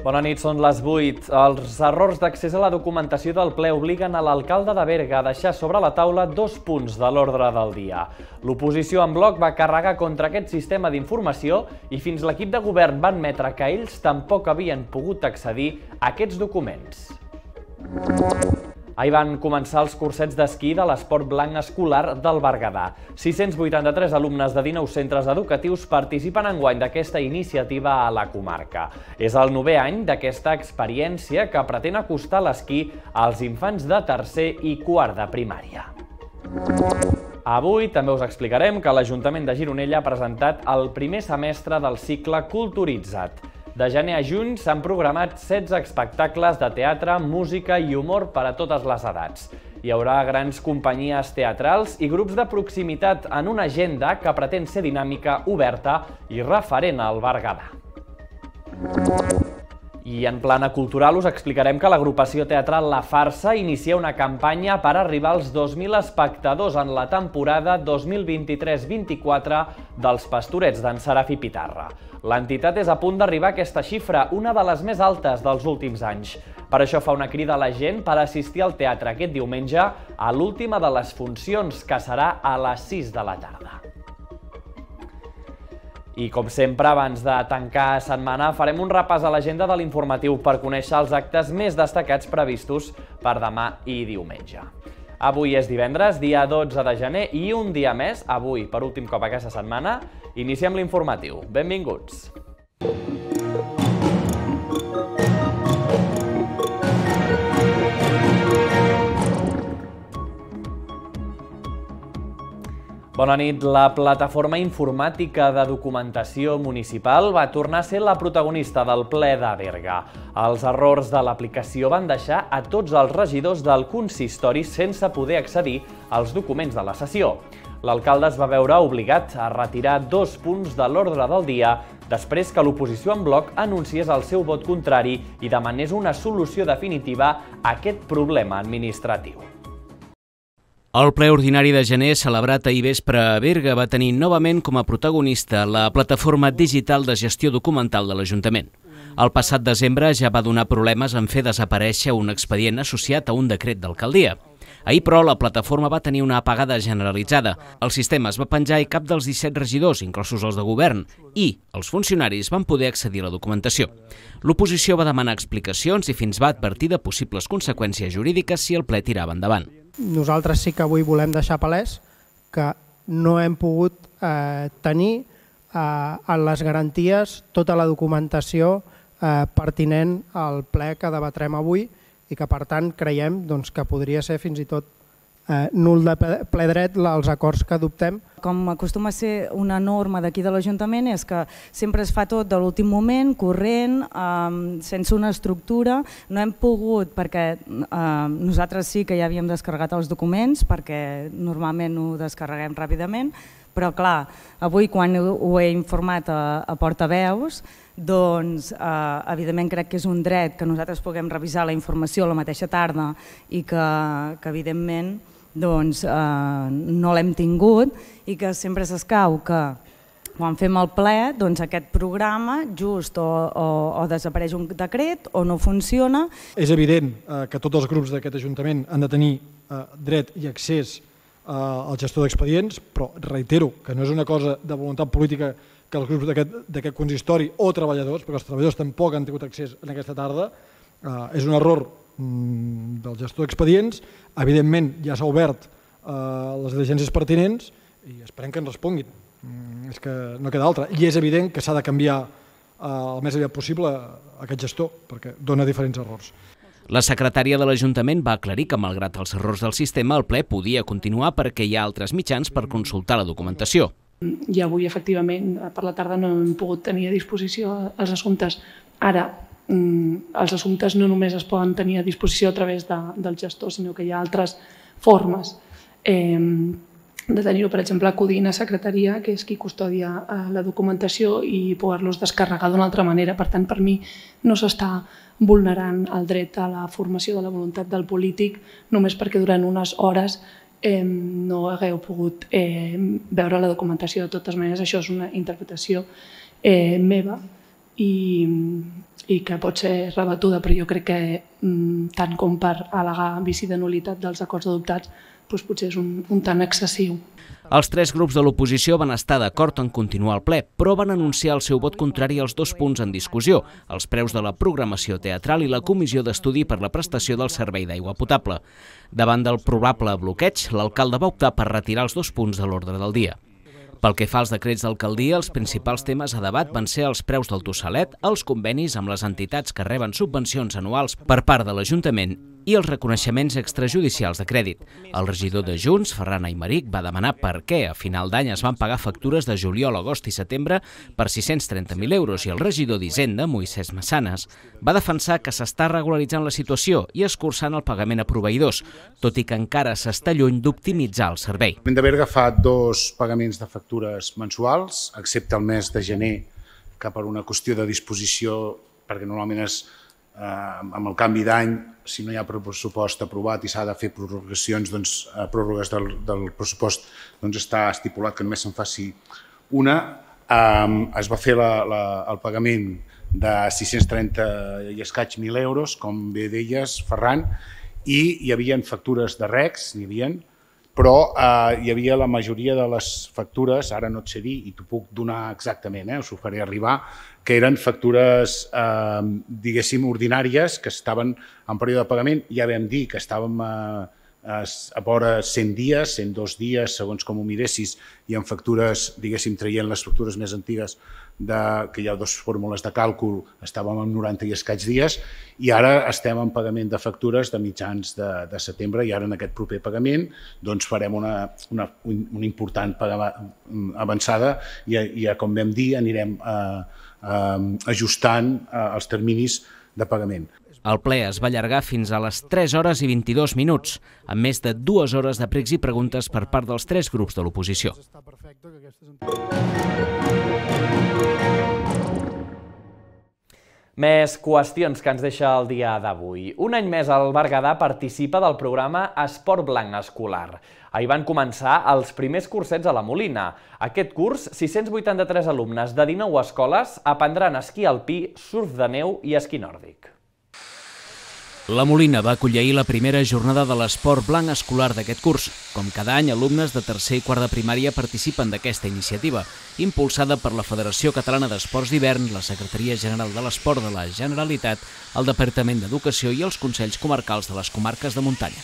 Bona nit, són les 8. Els errors d'accés a la documentació del ple obliguen a l'alcalde de Berga a deixar sobre la taula 2 punts de l'ordre del dia. L'oposició en bloc va carregar contra aquest sistema d'informació i fins l'equip de govern va admetre que ells tampoc havien pogut accedir a aquests documents. Ahir van començar els cursets d'esquí de l'esport blanc escolar del Berguedà. 683 alumnes de 19 centres educatius participen enguany d'aquesta iniciativa a la comarca. És el 9è any d'aquesta experiència que pretén acostar l'esquí als infants de tercer i quart de primària. Avui també us explicarem que l'Ajuntament de Gironella ha presentat el primer semestre del cicle Culturitza't. De gener a juny s'han programat 16 espectacles de teatre, música i humor per a totes les edats. Hi haurà grans companyies teatrals i grups de proximitat en una agenda que pretén ser dinàmica, oberta i referent al Berguedà. I en plana cultural us explicarem que l'agrupació teatral La Farsa inicia una campanya per arribar als 2.000 espectadors en la temporada 2023-24 dels Pastorets d'en Serafí Pitarra. L'entitat és a punt d'arribar a aquesta xifra, una de les més altes dels últims anys. Per això fa una crida a la gent per assistir al teatre aquest diumenge a l'última de les funcions, que serà a les 6 de la tarda. I com sempre, abans de tancar setmana, farem un repàs a l'agenda de l'informatiu per conèixer els actes més destacats previstos per demà i diumenge. Avui és divendres, dia 12 de gener, i un dia més, avui, per últim cop aquesta setmana, iniciem l'informatiu. Benvinguts! Bona nit. La plataforma informàtica de documentació municipal va tornar a ser la protagonista del ple de Berga. Els errors de l'aplicació van deixar a tots els regidors del consistori sense poder accedir als documents de la sessió. L'alcalde es va veure obligat a retirar 2 punts de l'ordre del dia després que l'oposició en bloc anunciés el seu vot contrari i demanés una solució definitiva a aquest problema administratiu. El ple ordinari de gener, celebrat ahir vespre a Berga, va tenir novament com a protagonista la plataforma digital de gestió documental de l'Ajuntament. El passat desembre ja va donar problemes en fer desaparèixer un expedient associat a un decret d'alcaldia. Ahir, però, la plataforma va tenir una apagada generalitzada. El sistema es va penjar i cap dels 17 regidors, inclosos els de govern, i els funcionaris van poder accedir a la documentació. L'oposició va demanar explicacions i fins va advertir de possibles conseqüències jurídiques si el ple tirava endavant. Nosaltres sí que avui volem deixar palès que no hem pogut tenir en les garanties tota la documentació pertinent al ple que debatrem avui i que, per tant, creiem que podria ser fins i tot nul de ple dret els acords que adoptem. Com acostuma a ser una norma d'aquí de l'Ajuntament és que sempre es fa tot de l'últim moment, corrent, sense una estructura. No hem pogut, perquè nosaltres sí que ja havíem descarregat els documents, perquè normalment ho descarreguem ràpidament, però clar, avui quan ho he informat a portaveus, doncs evidentment crec que és un dret que nosaltres puguem revisar la informació la mateixa tarda i que evidentment no l'hem tingut i que sempre s'escau que quan fem el ple aquest programa just o desapareix un decret o no funciona. És evident que tots els grups d'aquest Ajuntament han de tenir dret i accés al gestor d'expedients, però reitero que no és una cosa de voluntat política que els grups d'aquest consistori o treballadors, perquè els treballadors tampoc han tingut accés en aquesta tarda, és un error del gestor d'expedients. Evidentment ja s'ha obert les diligències pertinents i esperem que ens responguin. És que no queda altra. I és evident que s'ha de canviar el més aviat possible aquest gestor, perquè dona diferents errors. La secretària de l'Ajuntament va aclarir que, malgrat els errors del sistema, el ple podia continuar perquè hi ha altres mitjans per consultar la documentació. I avui, efectivament, per la tarda no hem pogut tenir a disposició els assumptes. Ara, els assumptes no només es poden tenir a disposició a través del gestor, sinó que hi ha altres formes de tenir-ho, per exemple, acudint a secretaria, que és qui custodia la documentació, i poder-los descarregar d'una altra manera. Per tant, per mi no s'està vulnerant el dret a la formació de la voluntat del polític només perquè durant unes hores no hagueu pogut veure la documentació. De totes maneres, això és una interpretació meva i que pot ser rebatuda, però jo crec que tant com per al·legar vici de nul·litat dels acords adoptats, potser és un tant excessiu. Els tres grups de l'oposició van estar d'acord en continuar el ple, però van anunciar el seu vot contrari als dos punts en discussió, els preus de la programació teatral i la comissió d'estudi per la prestació del servei d'aigua potable. Davant del probable bloqueig, l'alcalde va optar per retirar els dos punts de l'ordre del dia. Pel que fa als decrets d'alcaldia, els principals temes a debat van ser els preus del tossalet, els convenis amb les entitats que reben subvencions anuals per part de l'Ajuntament i els reconeixements extrajudicials de crèdit. El regidor de Junts, Ferran Aymeric, va demanar per què a final d'any es van pagar factures de juliol, agost i setembre per 630.000 euros i el regidor d'Hisenda, Moisès Massanes, va defensar que s'està regularitzant la situació i escurçant el pagament a proveïdors, tot i que encara s'està lluny d'optimitzar el servei. L'Ajuntament de Berga fa 2 pagaments de factures mensuals, excepte el mes de gener, que per una qüestió de disposició, perquè normalment és amb el canvi d'any, si no hi ha pressupost aprovat i s'ha de fer prorrogacions, pròrrogues del pressupost, està estipulat que només se'n faci una. Es va fer el pagament de 630 i escaig mil euros, com bé deies, Ferran, i hi havia factures de regs, però hi havia la majoria de les factures, ara no et sé dir i t'ho puc donar exactament, us ho faré arribar, que eren factures, diguéssim, ordinàries, que estaven en període de pagament. Ja vam dir que estàvem a vora 100 dies, 102 dies, segons com ho miressis, i en factures, diguéssim, traient les factures més antigues, que hi ha 2 fórmules de càlcul, estàvem en 90 i escaig dies, i ara estem en pagament de factures de mitjans de setembre, i ara en aquest proper pagament farem una important avançada i, com vam dir, anirem ajustant els terminis de pagament. El ple es va allargar fins a les 3 hores i 22 minuts, amb més de 2 hores de pregs i preguntes per part dels 3 grups de l'oposició. Més qüestions que ens deixa el dia d'avui. Un any més el Berguedà participa del programa Esport Blanc Escolar. Ahir van començar els primers cursets a la Molina. Aquest curs, 683 alumnes de 19 escoles aprendran esquí alpí, surf de neu i esquí nòrdic. La Molina va acollir ahir la primera jornada de l'esport blanc escolar d'aquest curs. Com cada any, alumnes de tercer i quart de primària participen d'aquesta iniciativa, impulsada per la Federació Catalana d'Esports d'Hivern, la Secretaria General de l'Esport de la Generalitat, el Departament d'Educació i els Consells Comarcals de les comarques de muntanya.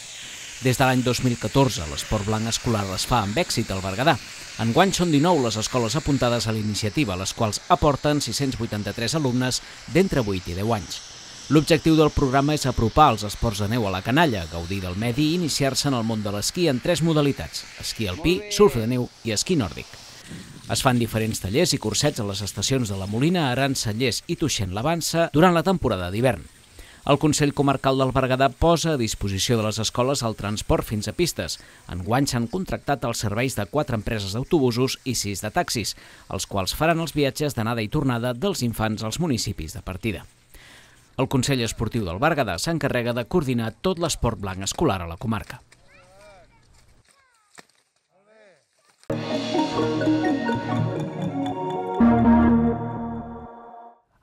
Des de l'any 2014, l'esport blanc escolar es fa amb èxit al Berguedà. Enguany són 19 les escoles apuntades a la iniciativa, les quals aporten 683 alumnes d'entre 8 i 10 anys. L'objectiu del programa és apropar els esports de neu a la canalla, gaudir del medi i iniciar-se en el món de l'esquí en 3 modalitats: esquí alpí, surf de neu i esquí nòrdic. Es fan diferents tallers i cursets a les estacions de la Molina, Aran, Cellers i Tuixén-l'Avança durant la temporada d'hivern. El Consell Comarcal del Berguedà posa a disposició de les escoles el transport fins a pistes. Enguany s'han contractat els serveis de 4 empreses d'autobusos i 6 de taxis, els quals faran els viatges d'anada i tornada dels infants als municipis de partida. El Consell Esportiu del Berguedà s'encarrega de coordinar tot l'esport blanc escolar a la comarca.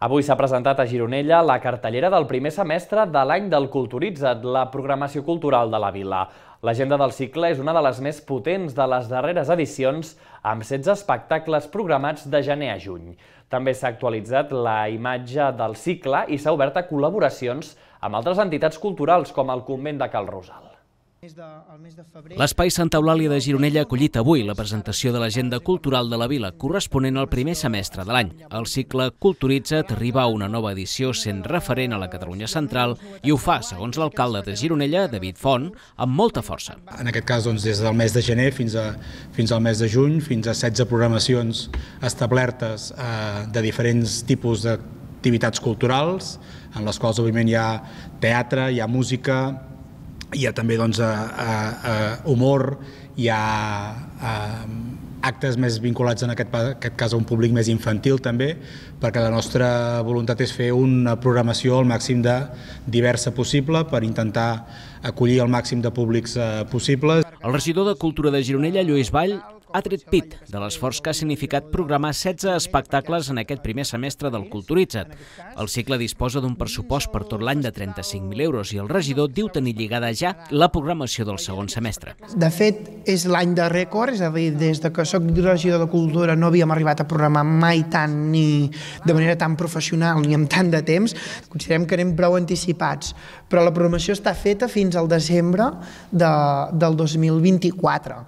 Avui s'ha presentat a Gironella la cartellera del primer semestre de l'any del Culturitza't, la programació cultural de la vila. L'agenda del cicle és una de les més potents de les darreres edicions, amb 16 espectacles programats de gener a juny. També s'ha actualitzat la imatge del cicle i s'ha obert a col·laboracions amb altres entitats culturals com el Convent de Cal Rosal. L'Espai Santa Eulàlia de Gironella ha acollit avui la presentació de l'agenda cultural de la vila corresponent al primer semestre de l'any. El cicle Culturitza't arriba a una nova edició sent referent a la Catalunya central i ho fa, segons l'alcalde de Gironella, David Font, amb molta força. En aquest cas, des del mes de gener fins al mes de juny, fins a 16 programacions establertes de diferents tipus d'activitats culturals, en les quals, òbviament, hi ha teatre, hi ha música, hi ha també humor, hi ha actes més vinculats en aquest cas a un públic més infantil també, perquè la nostra voluntat és fer una programació al màxim de diversa possible per intentar acollir el màxim de públics possibles. El regidor de Cultura de Gironella, Lluís Vall, ha tret pit de l'esforç que ha significat programar 16 espectacles en aquest primer semestre del Culturitza't. El cicle disposa d'un pressupost per tot l'any de 35.000 euros i el regidor diu tenir lligada ja la programació del segon semestre. De fet, és l'any de rècord, és a dir, des que soc regidor de Cultura no havíem arribat a programar mai tant ni de manera tan professional ni amb tant de temps. Considerem que anem prou anticipats, però la programació està feta fins al desembre del 2024.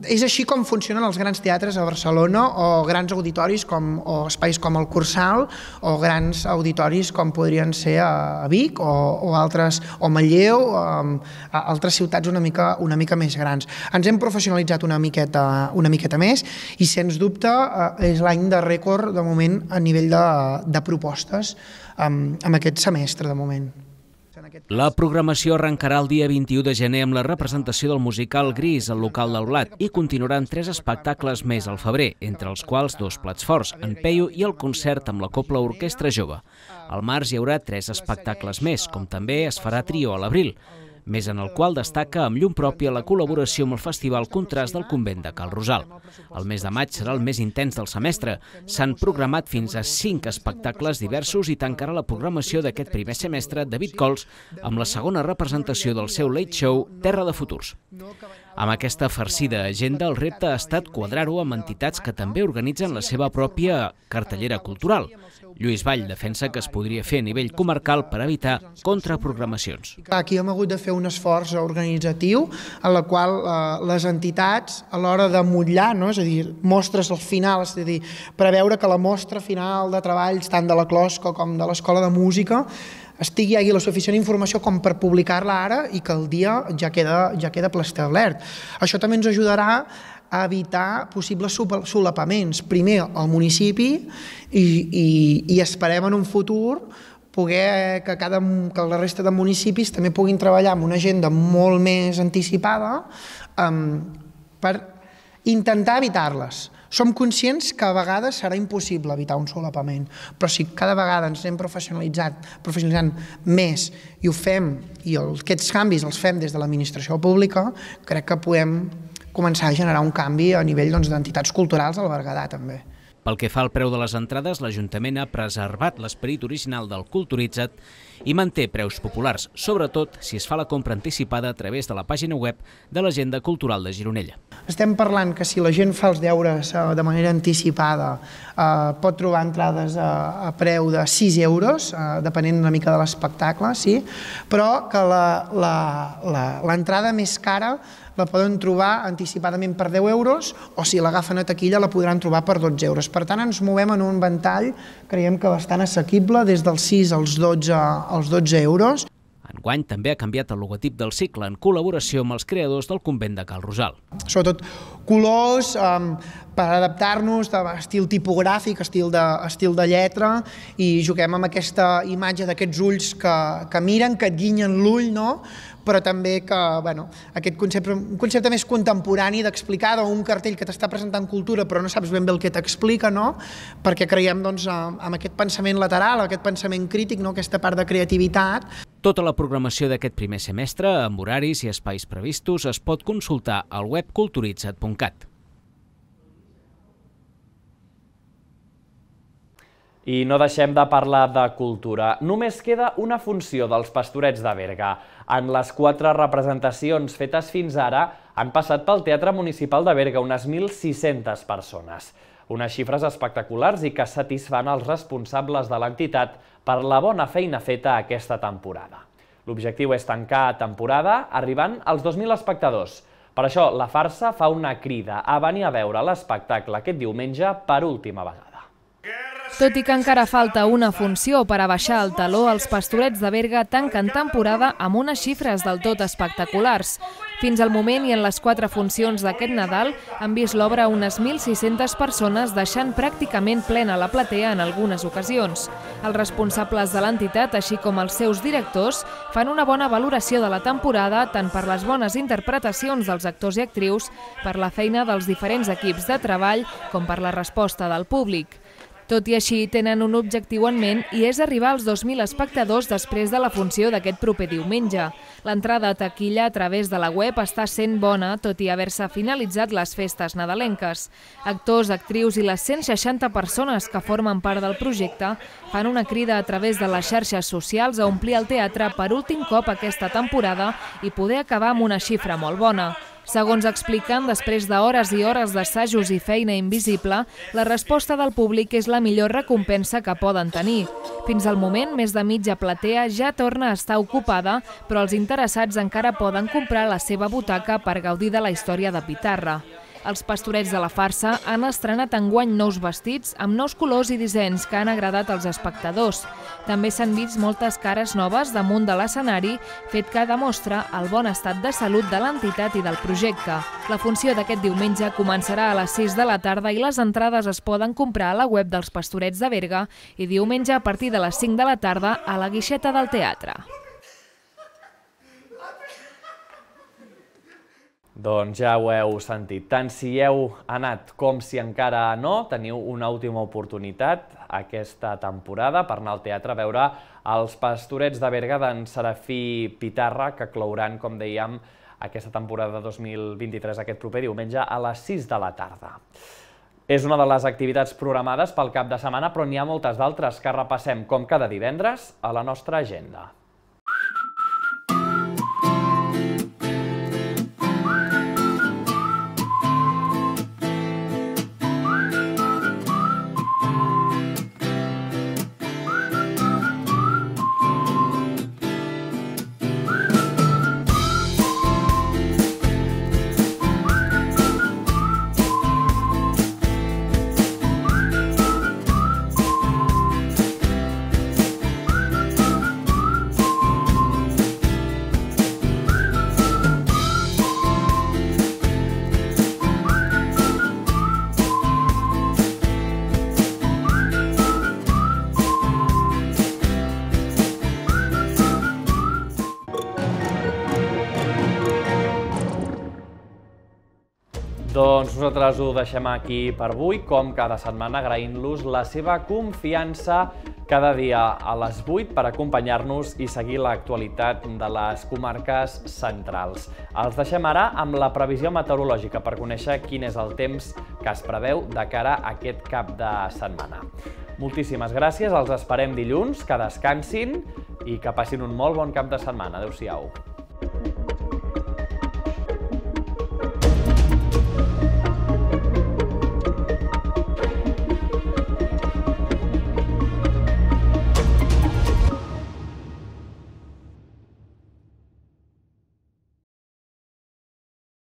És així com funcionen els grans teatres a Barcelona o grans auditoris o espais com el Cursal o grans auditoris com podrien ser a Vic o altres, o Manlleu, altres ciutats una mica més grans. Ens hem professionalitzat una miqueta més i, sens dubte, és l'any de rècord de moment a nivell de propostes en aquest semestre de moment. La programació arrencarà el dia 21 de gener amb la representació del musical Gris al local del Blat i continuaran 3 espectacles més al febrer, entre els quals 2 plats forts, en Peyu i el concert amb la Cobla Orquestra Jove. Al març hi haurà 3 espectacles més, com també es farà trio a l'abril, més en el qual destaca amb llum pròpia la col·laboració amb el Festival Contrast del Convent de Cal Rosal. El mes de maig serà el més intens del semestre. S'han programat fins a 5 espectacles diversos i tancarà la programació d'aquest primer semestre David Cols amb la segona representació del seu late show Terra de Futurs. Amb aquesta farcida agenda, el repte ha estat quadrar-ho amb entitats que també organitzen la seva pròpia cartellera cultural. Lluís Vall defensa que es podria fer a nivell comarcal per evitar contraprogramacions. Aquí hem hagut de fer un esforç organitzatiu en la qual les entitats, a l'hora de motllar, és a dir, mostres al final, és a dir, preveure que la mostra final de treballs tant de la Closco com de l'Escola de Música hi hagi la suficient informació com per publicar-la ara i que el dia ja queda preestablert. Això també ens ajudarà a evitar possibles solapaments. Primer al municipi i esperem en un futur poder que la resta de municipis també puguin treballar amb una agenda molt més anticipada per intentar evitar-les. Som conscients que a vegades serà impossible evitar un solapament, però si cada vegada ens anem professionalitzant més i ho fem, i aquests canvis els fem des de l'administració pública, crec que podem començar a generar un canvi a nivell d'entitats culturals al Berguedà també. Pel que fa al preu de les entrades, l'Ajuntament ha preservat l'esperit original del Culturitza't i manté preus populars, sobretot si es fa la compra anticipada a través de la pàgina web de l'Agenda Cultural de Gironella. Estem parlant que si la gent fa els deures de manera anticipada pot trobar entrades a preu de 6 euros, depenent una mica de l'espectacle, sí, però que l'entrada més cara la poden trobar anticipadament per 10 euros o si l'agafen a taquilla la podran trobar per 12 euros. Per tant, ens movem en un ventall, creiem que bastant assequible, des dels 6 als 12 euros. Enguany també ha canviat el logotip del cicle en col·laboració amb els creadors del Convent de Cal Rosal. Sobretot colors per adaptar-nos d'estil tipogràfic, estil de lletra, i juguem amb aquesta imatge d'aquests ulls que miren, que et guinyen l'ull, però també que aquest concepte més contemporani d'explicar un cartell que t'està presentant cultura però no saps ben bé el que t'explica, perquè creiem en aquest pensament lateral, aquest pensament crític, aquesta part de creativitat. Tota la programació d'aquest primer semestre, amb horaris i espais previstos, es pot consultar al web culturitza't.cat. I no deixem de parlar de cultura. Només queda una funció dels Pastorets de Berga. En les 4 representacions fetes fins ara han passat pel Teatre Municipal de Berga unes 1.600 persones. Unes xifres espectaculars i que satisfan els responsables de l'entitat per la bona feina feta aquesta temporada. L'objectiu és tancar temporada arribant als 2.000 espectadors. Per això, la Farsa fa una crida a venir a veure l'espectacle aquest diumenge per última vegada. Tot i que encara falta una funció per a baixar el taló, els Pastorets de Berga tanquen temporada amb unes xifres del tot espectaculars. Fins al moment i en les 4 funcions d'aquest Nadal han vist l'obra unes 1.600 persones, deixant pràcticament plena la platea en algunes ocasions. Els responsables de l'entitat, així com els seus directors, fan una bona valoració de la temporada, tant per les bones interpretacions dels actors i actrius, per la feina dels diferents equips de treball, com per la resposta del públic. Tot i així, tenen un objectiu en ment i és arribar als 2.000 espectadors després de la funció d'aquest proper diumenge. L'entrada a taquilla a través de la web està sent bona, tot i haver-se finalitzat les festes nadalenques. Actors, actrius i les 160 persones que formen part del projecte fan una crida a través de les xarxes socials a omplir el teatre per últim cop aquesta temporada i poder acabar amb una xifra molt bona. Segons expliquen, després d'hores i hores d'assajos i feina invisible, la resposta del públic és la millor recompensa que poden tenir. Fins al moment, més de mitja platea ja torna a estar ocupada, però els interessats encara poden comprar la seva butaca per gaudir de la història de Pitarra. Els Pastorets de la Farsa han estrenat enguany nous vestits amb nous colors i dissenys que han agradat als espectadors. També s'han vist moltes cares noves damunt de l'escenari, fet que demostra el bon estat de salut de l'entitat i del projecte. La funció d'aquest diumenge començarà a les 6 de la tarda i les entrades es poden comprar a la web dels Pastorets de Berga i diumenge a partir de les 5 de la tarda a la guixeta del teatre. Doncs ja ho heu sentit. Tant si heu anat com si encara no, teniu una última oportunitat aquesta temporada per anar al teatre a veure els Pastorets de Berga d'en Serafí Pitarra, que clouran, com dèiem, aquesta temporada 2023 aquest proper diumenge a les 6 de la tarda. És una de les activitats programades pel cap de setmana, però n'hi ha moltes d'altres que repassem com cada divendres a la nostra agenda. Doncs nosaltres ho deixem aquí per avui, com cada setmana, agraint-los la seva confiança cada dia a les 8 per acompanyar-nos i seguir l'actualitat de les comarques centrals. Els deixem ara amb la previsió meteorològica per conèixer quin és el temps que es preveu de cara a aquest cap de setmana. Moltíssimes gràcies, els esperem dilluns, que descansin i que passin un molt bon cap de setmana. Adéu-siau.